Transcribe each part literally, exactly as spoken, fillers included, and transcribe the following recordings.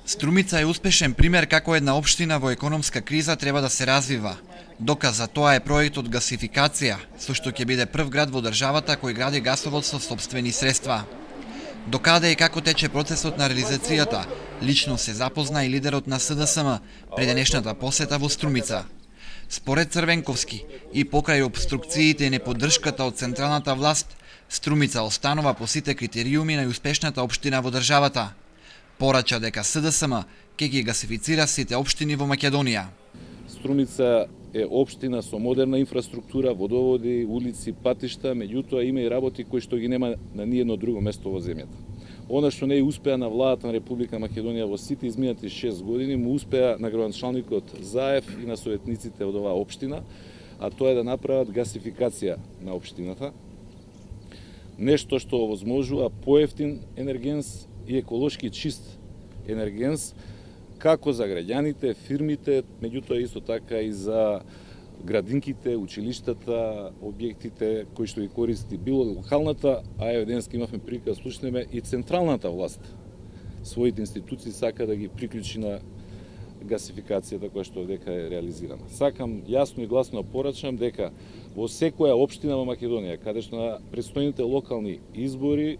Струмица е успешен пример како една општина во економска криза треба да се развива. Доказ за тоа е проектот гасификација, со што ќе биде прв град во државата кој гради гасовод со сопствени средства. Докаде и како тече процесот на реализацијата, лично се запозна и лидерот на С Д С М при денешната посета во Струмица. Според Црвенковски и покрај обструкциите и неподдршката од централната власт, Струмица останува по сите критериуми на успешната општина во државата. Порача дека С Д С М ќе ги гасифицира сите општини во Македонија. Струмица е општина со модерна инфраструктура, водоводи, улици, патишта, меѓутоа има и работи кои што ги нема на ниедно друго место во земјата. Она што не е успеа на владата на Република Македонија во сите изминати шест години, му успеа на градоначалникот Заев и на советниците од оваа општина, а тоа е да направат гасификација на општината. Нешто што овозможува поевтин енергенс и еколошки чист енергенс, како за граѓаните, фирмите, меѓутоа исто така и за градинките, училиштата, објектите кои што ги користи било локалната, а еве денеска имавме прилика да слушнеме и централната власт. Своите институции сака да ги приклучи на гасификацијата која што дека е реализирана. Сакам јасно и гласно да порачам дека во секоја општина во Македонија, каде што на предстојните локални избори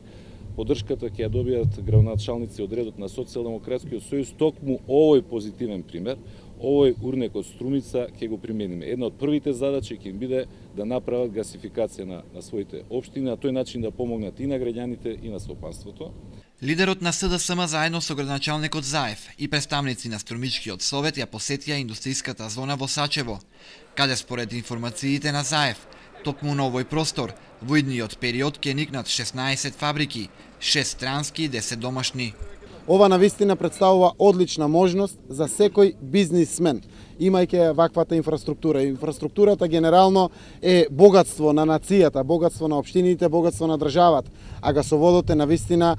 поддршката ќе ја добијат градоначалници од редот на Социјалдемократскиот сојуз, токму овој позитивен пример, овој урнек од Струмица ќе го примениме. Една од првите задачи ќе им биде да направат гасификација на, на своите општини, на тој начин да помогнат и на граѓаните и на стопанството. Лидерот на С Д С М заедно со градоначалникот Заев и представници на Струмичкиот совет ја посетија индустријската зона во Сачево, каде според информациите на Заев, токму на овој простор, во идниот период ќе никнат шеснаесет фабрики, шест странски и десет домашни. Ова навистина представува одлична можност за секој бизнисмен, имајќи ваквата инфраструктура. Инфраструктурата генерално е богатство на нацијата, богатство на општините, богатство на државата, а гасоводот е навистина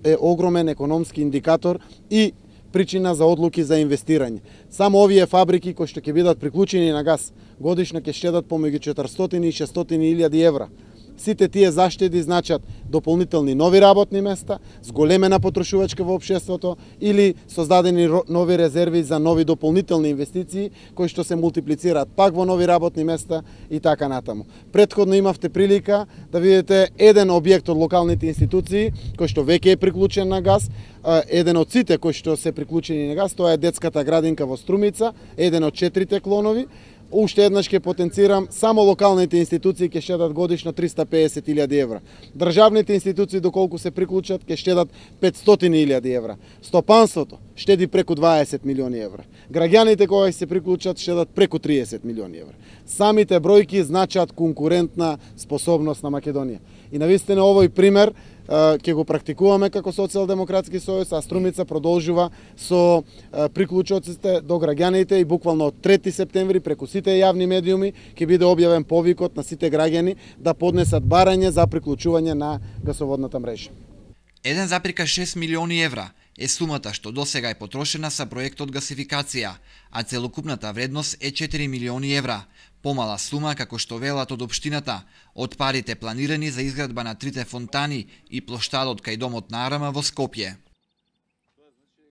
е огромен економски индикатор и причина за одлуки за инвестирање. Само овие фабрики кои што ќе бидат приклучени на газ годишно ќе штедат помеѓу четиристотини и шестстотини илјади евра. Сите тие заштеди значат дополнителни нови работни места, зголемена потрошувачка во општеството или создадени нови резерви за нови дополнителни инвестиции кои што се мултиплицираат пак во нови работни места и така натаму. Претходно имавте прилика да видите еден објект од локалните институции кој што веќе е приклучен на газ, еден од сите кои што се приклучени на газ, тоа е детската градинка во Струмица, еден од четирите клонови. Уште еднаш ќе потенцирам, само локалните институции ќе штедат годишно триста и песет илјади евра. Државните институции доколку се приклучат ќе штедат петстотини илјади евра. Стопанството штеди преку дваесет милиони евра. Граѓаните кога се приклучат штедат преку триесет милиони евра. Самите бројки значат конкурентна способност на Македонија. И навистина овој пример ќе го практикуваме како Социјалдемократски сојуз, а Струмица продолжува со приклучоците до граѓаните и буквално од трети септември преку сите јавни медиуми ќе биде објавен повикот на сите граѓани да поднесат барање за приклучување на гасоводната мрежа. еден запирка шест милиони евра е сумата што досега е потрошена за проектот гасификација, а целокупната вредност е четири милиони евра. Помала сума, како што велат од општината, од парите планирани за изградба на трите фонтани и плоштадот кај домот на Арама во Скопје.